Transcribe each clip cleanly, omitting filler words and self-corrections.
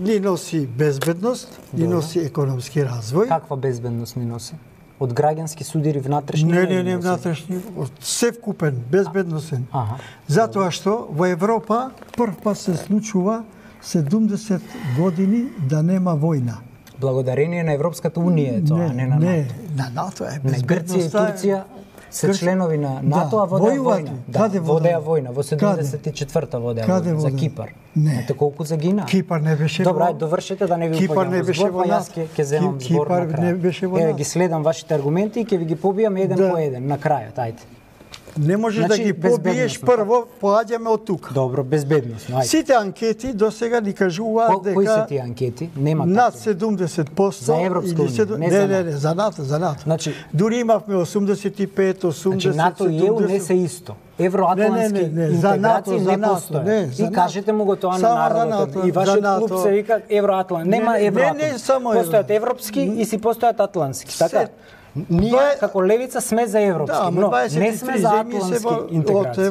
ни носи безбедност, ни носи економски развој. Каква безбедност ни носи? Од граѓански судири внатрешни? Не, внатрешни, се вкупен, безбедносен. Затоа што во Европа прв пат се случува 70 години да нема војна. Благодарение на Европската унија е тоа, не на НАТО. Не, на НАТО е безбедноста. Грција и Турција се членови на НАТО, а водеа војна. Каде водеа војна? Во 74-та водеа војна за Кипар. Знаете колку загина? Кипар не беше. Добра, ајде довршете да не ви Кипар не беше во НАТО. Јас ќе земам збор на крај. Кипар не беше во НАТО. Еве ги следам вашите аргументи и ќе ви ги побијам еден по еден на крајот, ајде. Не можеш да ги побиеш прво, поаѓаме од тука. Добро, безбедносно, ајде. Сите анкети досега ни кажуваат дека кои се тие анкети? Нема над 70% за Европска унија, не, за НАТО, за НАТО. Значи, дури имавме 85, 80. Значи НАТО и ЕУ не се исто. Евроатлантски интеграции не постојат. И кажете му го тоа на народот. И вашиот клуб се вика Евроатлант. Нема Евроатлант. Постојат европски и си постојат атлантски, така? Ние како левица сме за европски, но не сме за атлантски интеграции.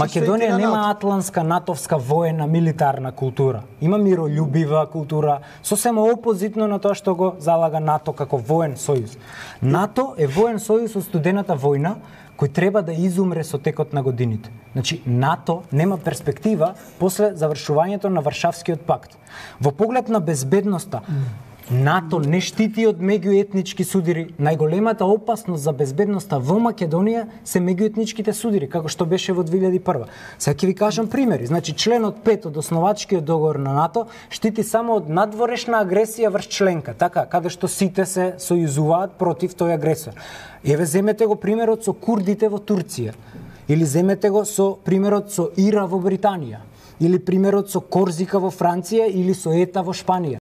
Македонија нема атлантска, натовска, воена, милитарна култура. Има миролюбива култура, сосема опозитно на тоа што го залага НАТО како воен сојуз. НАТО е воен сојуз од студената војна, кој треба да изумре со текот на годините. Значи, НАТО нема перспектива после завршувањето на Варшавскиот пакт. Во поглед на безбедноста, НАТО не штити од меѓуетнички судири. Најголемата опасност за безбедноста во Македонија се меѓуетничките судири, како што беше во 2001. Сега ќе ви кажам примери. Значи, членот 5 од основачкиот договор на НАТО штити само од надворешна агресија врз членка, така, каде што сите се сојузуваат против тој агресор. Еве, земете го примерот со курдите во Турција, или земете го со примерот со Ира во Британија, или примерот со Корзика во Франција, или со Ета во Шпанија.